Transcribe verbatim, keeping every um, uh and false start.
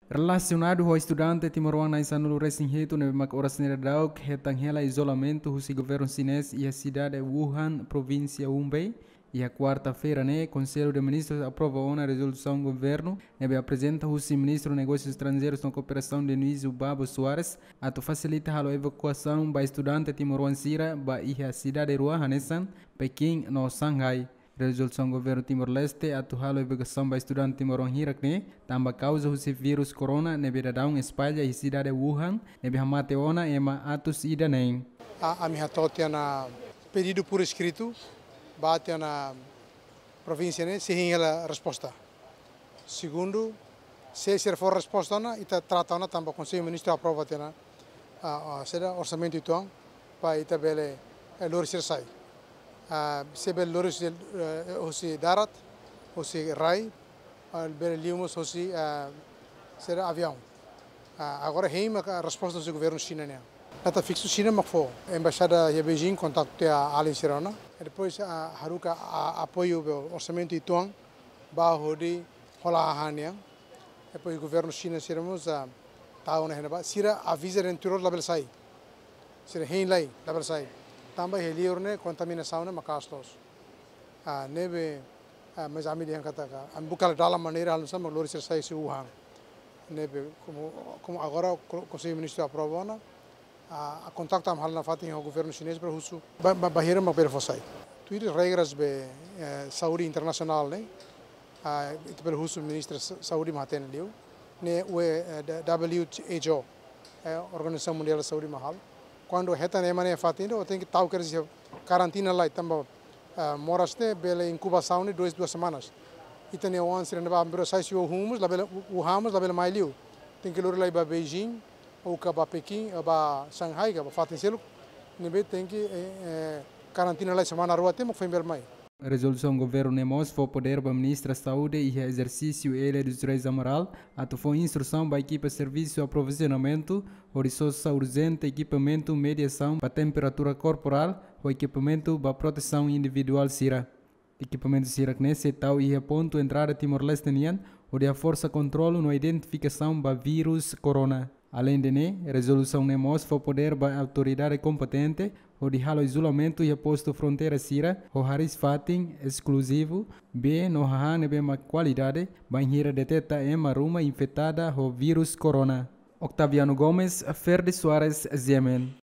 Relasionadu ho estudante timoroan na'in-sanulu-resin-hitu ne'ebé mak oras ne'e daudaun hetan hela izolamentu husi governu xinés iha sidade Wuhan, provínsia Hubei, iha kuarta-feira ne'e, Konsellu de Ministrus aprova ona rezolusaun governu ne'ebé aprezenta husi Ministru Negósius Estranjeirus no Kooperasaun, Dionísio Babo Soares, atu fasilita halo evakuasaun ba estudante timoroan sira ba iha sidade rua hanesan Pekin no Shanghai. Rezolusaun governu Timor-Leste atu halo evakuasaun ba estudante timoroan hirak ne'e tanba kauza husi vírus corona ne'ebé daudaun espalla iha sidade Wuhan, ne'ebé hamate ona ema atus ida neen. A, ami hato'o tiha ona pedidu por escrito ba tiha ona provínsia ne'e, sei hein hela resposta. Segundu, se sira fó resposta ona, ita trata ona tanba Konsellu Ministru aprova tiha ona, a, a, saida, orsamentu uitoan, para ita bele, eh, lori sira sai. A, se bele lori husi, eh, husi darat, husi rai, a, bele liu mós husi, a, saida, aviaun. A, agora hein maka resposta husi governu Xina nian. Data fiksu Xina mak fó. Embaixada iha Beijing kontaktu tiha alin sira ona. E depois, a, haruka, a, apoiu be orsamentu uitoan ba hodi hola hahán nian. Depois governu Xina sira mós, a, tau ona iha ne'ebá. Sira aviza de'it tuir labele sai. Sira hein lai, labele sai. Tanba iha liur ne'e kontaminasaun ne'e maka'as loos. A, ne'ebé, a, mas ami dehan katak, ami buka dalan maneira halo nu'usá mak lori sira sai husi Wuhan. Ne'ebé, komu, komu agora ko-, Konsellu Ministru aprova ona, a, a kontaktu ami halo nafatin ho governu xinés para husu ba, ba, bainhira mak bele fó sai. Tuir regras be, eh, saúde internasionál ne'e, a, ita bele husu Ministru Sa-, Saúde mak hatene liu. Ne'e, eh, da-, W H O, eh, Organizasaun Mundiál Saúde mak halo. Kuandu hetan ema ne'e iha fatin ida, o tenke tau, quer dizer, karantina lai tanba, ah, moras ne'e bele inkubasaun ne'e dois, duas semanas. Ita-nia oan sira ne'ebá bainhira sai husi Wuhan mós labele, Wuhan mós labele mai liu. Tenke lori lai ba Beijing, ou ka ba Pekin, ou ba Shanghai, ka ba fatin seluk. Ne'ebé tenke, eh, eh, karantina lai semana rua até mak foin bele mai. Rezolusaun governu ne'e mós fó podér ba Ministra Saúde iha ezersísiu Elia dos Reis Amaral atu fó instrusaun ba ekipa servisu aprovizionamentu hodi sosa urjente ekipamentu mediasaun ba temperatura korporál ho ekipamentu ba protesaun individuál sira. Ekipamentu sira-ne'e sei tau iha pontu entrada Timor-Leste nian hodi haforsa kontrolu no identifikasaun ba vírus corona. Aleinde ne'e, rezolusaun ne'e mós fó podér ba autoridade kompetente hodi halo izolamentu iha postu fronteira sira ho hariis-fatin eskluzivu, bee no hahán ne'ebé mak kualidade, bainhira deteta ema ruma infetada ho vírus corona. Octaviano Gomes, Ferdi Soares, G M N.